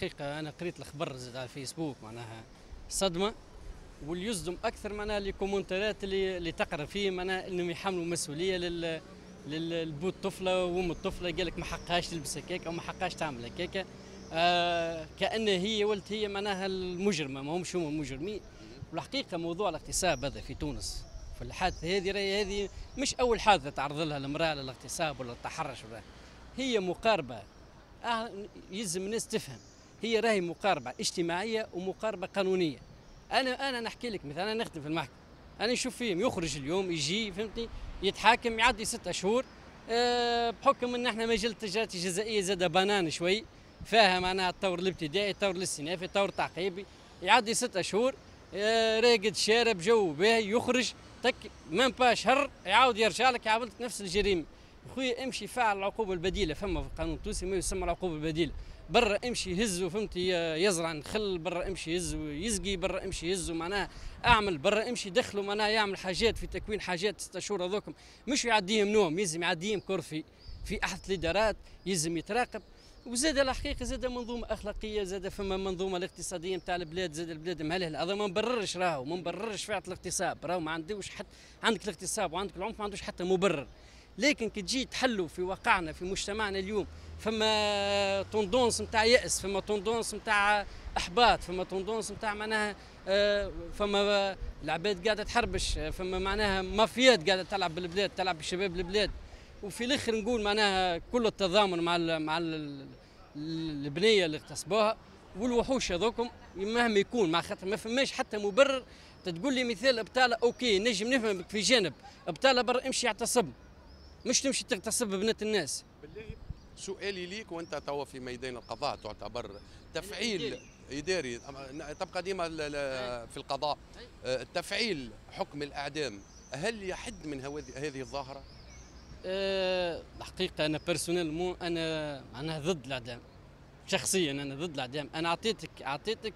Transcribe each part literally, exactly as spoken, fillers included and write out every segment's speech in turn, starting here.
الحقيقة انا قريت الخبر زاد على الفيسبوك، معناها صدمة، واللي يصدم اكثر معناها les commentaires اللي اللي تقرا فيه، معناها انهم يحملوا مسؤولية لل للبو الطفلة وام الطفله، قال لك ما حقهاش تلبس هكاك او ما حقهاش تعمل هكاك، آه كأن هي ولت هي معناها المجرمة، ما همش هما المجرمين. والحقيقة موضوع الاغتصاب هذا في تونس في الحادثة هذه، راهي هذه مش اول حادثه تعرض لها المراة للاغتصاب ولا التحرش ولا، هي مقاربة آه يلزم الناس تفهم، هي راهي مقاربة اجتماعية ومقاربه قانونية. انا انا نحكي لك مثلا، انا نخدم في المحكمه، انا نشوف فيهم يخرج اليوم يجي فهمتني يتحاكم يعدي ستة شهور، أه بحكم ان احنا مجلة التجارة الجزائيه زاد بنان شوي فيها معناها الطور الابتدائي، الطور الاستئنافي، الطور التعقيبي، يعدي ستة شهور أه راقد شارب جو باهي، يخرج تك même pas شهر يعاود يرجع لك يعاود نفس الجريمة. خويا امشي فعل العقوبة البديله، فما في القانون التونسي ما يسمى العقوبة البديله، برا امشي هزو فهمتي يزرع نخل، برا امشي هزو يزقي، برا امشي هزو معناها اعمل، برا امشي دخلوا معناها يعمل حاجات في تكوين حاجات ستة شهور هذوكم مش يعديهم نوم، يلزم يعديهم كرفي في احد الادارات، يلزم يتراقب. وزاد الحقيقة زاد منظومة اخلاقيه، زاد فما منظومة الاقتصادية نتاع البلاد، زاد البلاد مهلهله، هذا ما نبررش راهو، ما نبررش فعل الاغتصاب، راهو ما عندوش حتى، عندك الاغتصاب وعندك العنف ما عندوش حتى مبرر، لكن كي تجي تحلوا في واقعنا في مجتمعنا اليوم فما tendance نتاع يأس، فما tendance نتاع احباط، فما tendance نتاع معناها فما العباد قاعدة تحربش، فما معناها مافيات قاعدة تلعب بالبلاد، تلعب بشباب البلاد. وفي الاخر نقول معناها كل التضامن مع ال مع ال البنية اللي اغتصبوها والوحوش هذوكم مهما يكون، مع خاطر ما فماش حتى مبرر. تقول لي مثال ابطاله، OK نجم نفهمك في جانب ابطاله، برا امشي اعتصب، مش تمشي تغتصب بنات الناس. بالله سؤالي ليك وانت توا في ميدان القضاء، تعتبر تفعيل اداري تبقى ديما في القضاء، تفعيل حكم الاعدام هل يحد من هذه الظاهرة؟ أه الحقيقة انا personnellement انا معناها ضد الاعدام، شخصيا انا ضد الاعدام. انا اعطيتك اعطيتك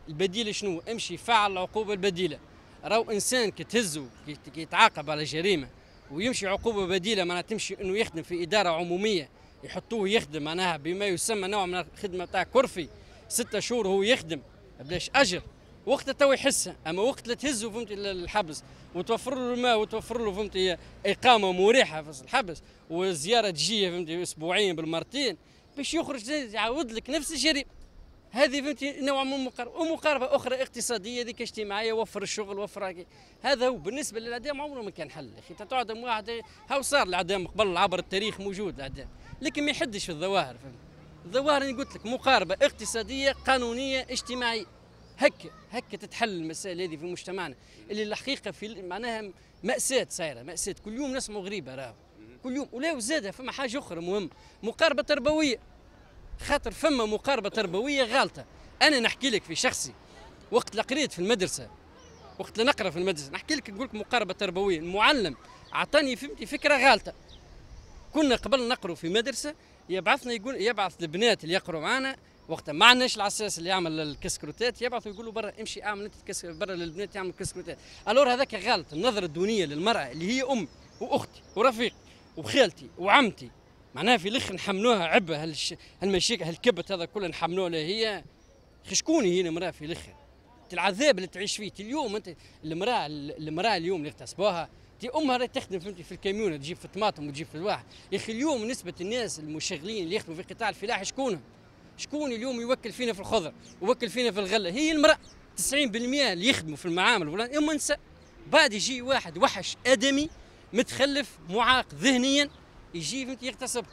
البديل شنو؟ امشي فعل العقوبة البديلة. راهو انسان كي تهزو كي يتعاقب على جريمة ويمشي عقوبه بديله، معناها تمشي انه يخدم في ادارة عموميه، يحطوه يخدم معناها بما يسمى نوع من الخدمة تاع كرفي، ستة شهور هو يخدم بلاش اجر، وقتها تو يحسها. اما وقت اللي تهزه فهمتي للحبس وتوفر له الماء وتوفر له فهمتي اقامه مريحه في الحبس والزيارة تجيه فهمتي اسبوعيا بالمرتين باش يخرج يعاود لك نفس الجريمة. هذه فهمتي نوع من المقاربة، ومقاربه اخرى اقتصادية ذيك اجتماعية، وفر الشغل وفر هذا. هو بالنسبة للاعدام عمره ما كان حل. اخي تعدم واحد، هاو صار الاعدام قبل عبر التاريخ موجود الاعدام، لكن ما يحدش في الظواهر. فهمت الظواهر اللي قلت لك مقاربة اقتصادية قانونية اجتماعية، هكا هكا تتحل المسائل هذه في مجتمعنا اللي الحقيقة في معناها مأساة صايرة، مأساة كل يوم نسمعوا غريبة راهو كل يوم. ولا وزادها فما حاجة اخرى مهمة، مقاربة تربوية، خاطر فما مقاربة تربوية غالطه. انا نحكي لك في شخصي وقت اللي قريت في المدرسة، وقت اللي نقرا في المدرسة نحكي لك نقول لك مقاربة تربوية، المعلم اعطاني فهمتي فكرة غالطه. كنا قبل نقروا في مدرسه يبعثنا يقول يبعث البنات اللي يقروا معنا وقتها ما عندناش العساس اللي يعمل الكسكروتات، يبعثوا يقولوا برا امشي اعمل انت الكسك برا للبنات يعمل الكسكروتات. alors هذاك غلط، النظرة الدونيه للمراة اللي هي امي واختي ورفيقي وخالتي وعمتي، معناها في الاخر نحملوها عبء هالش... هالمشاكل هالكبت هذا كله نحملوه لها هي. شكون هي المراة في الاخر؟ العذاب اللي تعيش فيه اليوم انت، المراة المراة اليوم اللي اغتصبوها تي امها راهي تخدم فهمتي في الكاميون تجيب في الطماطم وتجيب في الواحد. يا اخي اليوم نسبه الناس المشغلين اللي يخدموا في قطاع الفلاحة شكونهم؟ شكون اليوم يوكل فينا في الخضر ويوكل فينا في الغلة؟ هي المراة. تسعين بالمئة اللي يخدموا في المعامل ولا هم نساء. بعد يجي واحد وحش ادمي متخلف معاق ذهنيا يجي فهمتي يغتصب،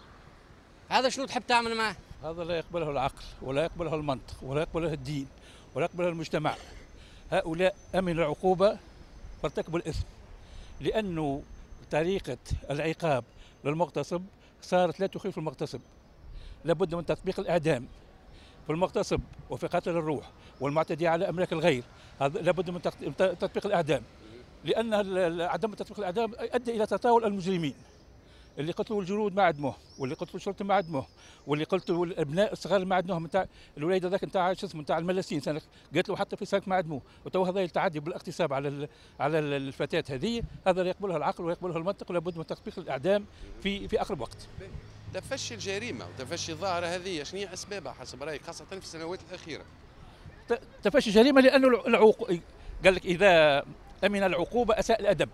هذا شنو تحب تعمل معاه؟ هذا لا يقبله العقل ولا يقبله المنطق ولا يقبله الدين ولا يقبله المجتمع. هؤلاء امنوا العقوبة فارتكبوا الاثم، لانه طريقه العقاب للمغتصب صارت لا تخيف المغتصب. لابد من تطبيق الاعدام في المغتصب وفي قتل الروح والمعتدي على املاك الغير، هذا لابد من تطبيق الاعدام، لان عدم تطبيق الاعدام ادى الى تطاول المجرمين. اللي قتلوا الجنود ما عدموه، واللي قتلوا الشرطة ما عدموه، واللي قتلوا الابناء الصغار ما عدموهم، نتاع الوليد هذاك نتاع شو اسمه نتاع الملاسين سنة قتلوا حتى في ساك ما عدموه، وتو هذا التعدي بالاغتصاب على على الفتاة هذه، هذا لا يقبلها العقل ويقبلها المنطق، ولابد من تطبيق الاعدام في في اقرب وقت. تفشي الجريمة وتفشي الظاهرة هذه، شنو هي اسبابها حسب رايك خاصة في السنوات الاخيرة؟ تفشي الجريمة لانه العقوق، قال لك اذا امن العقوبة اساء الادب.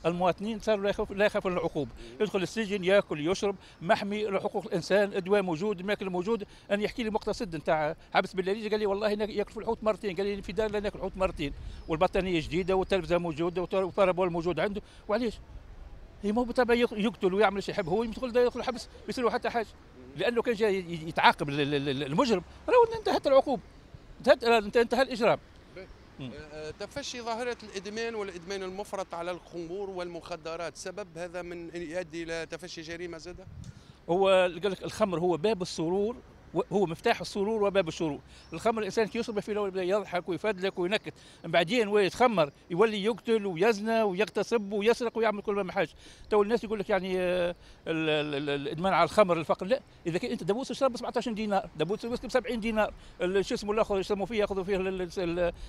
المواطنين صاروا لا يخاف لا يخافون العقوبة، يدخل السجن ياكل يشرب، محمي حقوق الانسان، الدواء موجود، الماكل موجود. انا يحكي لي مقتصد نتاع حبس بلاريجيا، قال لي والله ياكل في الحوت مرتين، قال لي في دار لا ناكل الحوت مرتين، والبطانيه جديدة والتلفزه موجودة وال parabole موجود عنده. وعلاش؟ هي مو بالطبع يقتل ويعمل شيء يحب هو، يدخل يدخل الحبس ما يصير حتى حاجة، لانه كان جاي يتعاقب المجرم راهو انتهت العقوبة، انتهت انتهى الاجرام. آه، تفشي ظاهرة الإدمان والإدمان المفرط على الخمور والمخدرات، سبب هذا من يؤدي إلى تفشي جريمة زادة؟ هو قال لك الخمر هو باب السرور، هو مفتاح السرور وباب الشرور. الخمر الانسان كي يشرب في الاول يضحك ويفدلك وينكت، من بعدين وين يتخمر يولي يقتل ويزنى ويغتصب ويسرق ويعمل كل ما حاجة. تو الناس يقول لك يعني آه، الادمان على الخمر الفقر، لا، اذا كان انت دبوس الشراب ب سبعطاش دينار، دبوس الويسكي ب سبعين دينار، شو اسمه الاخر يسموا فيه ياخذوا فيه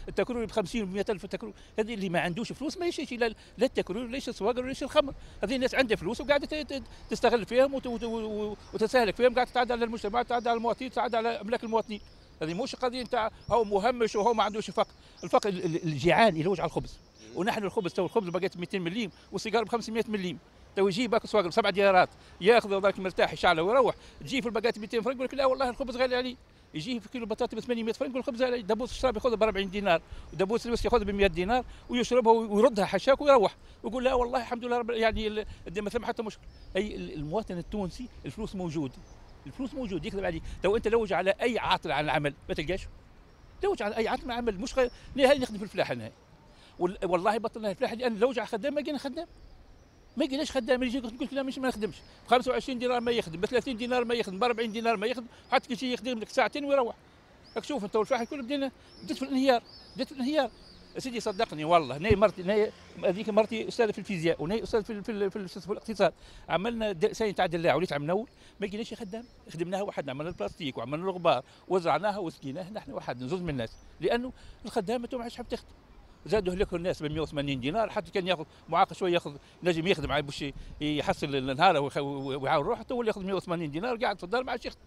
التكروري ب خمسين ب مية ألف التكروري. هذه اللي ما عندوش فلوس ما يشريش لا التكروري ولا السواقر ولا الخمر. هذه الناس عندها فلوس وقاعدة تستغل فيهم وتستهلك فيهم، قاعدة تتعدى على المجتمع، تتعدى على المواطنين، تتعدى على املاك المواطنين. هذه مش قضية نتاع هو مهمش وهو ما عندوش فقر، الفقر الجيعان يلوج على الخبز، ونحن الخبز تو الخبز بقت ميتين مليم والسيجار ب خمسمية مليم. تو يجي باك سواقر بسبع دينارات ياخذ ذاك مرتاح يشعله ويروح، تجي في الباكات ميتين فرنك يقول لك لا والله الخبز غالي علي. يجي في كيلو بطاطا ب ثمانمية فرنك يقول الخبز غالي. دبوس الشراب ياخذها ب أربعين دينار، ودبوس الويسكي ياخذها ب مية دينار ويشربها ويردها حشاك ويروح ويقول لا والله الحمد لله رب، يعني ما ثم حتى مشكل. اي المواطن التونسي الفلوس موجود، الفلوس موجود، يكذب عليك. تو انت لوج على اي عاطل عن العمل ما تلقاش، لوج على اي عاطل عن العمل. مش غير نهائي نخدم في الفلاحة نهائي، والله بطلنا الفلاحة لان لوج على خدام ما لقينا خدام، ما لقيناش خدام. يجي يقول لك لا مش ما نخدمش ب خمسة وعشرين دينار ما يخدم، ب ثلاثين دينار ما يخدم، ب أربعين دينار ما يخدم، حتى كي يخدم لك ساعتين ويروح. راك شوف انت والفلاحه الكل بدينا بديت في الانهيار، بديت في الانهيار. سيدي صدقني والله، ناي مرتي، ناي هذيك مرتي استاذه في الفيزياء وناي استاذ في في, في, في, في الاقتصاد، عملنا سنة تاع دلاع وليت عم نول ما لقيناش خدام، خدمناها وحدنا، عملنا البلاستيك وعملنا الغبار وزرعناها وسقيناها نحن وحدنا زوز من الناس، لانه الخدامة ما عادش حاب تخدم. زادوا هلكوا الناس ب مية وثمانين دينار، حتى كان ياخذ معاق شوية ياخذ نجم يخدم باش يحصل النهار ويعاون روحه، تو ياخذ مية وثمانين دينار قاعد في الدار ما عادش يخدم.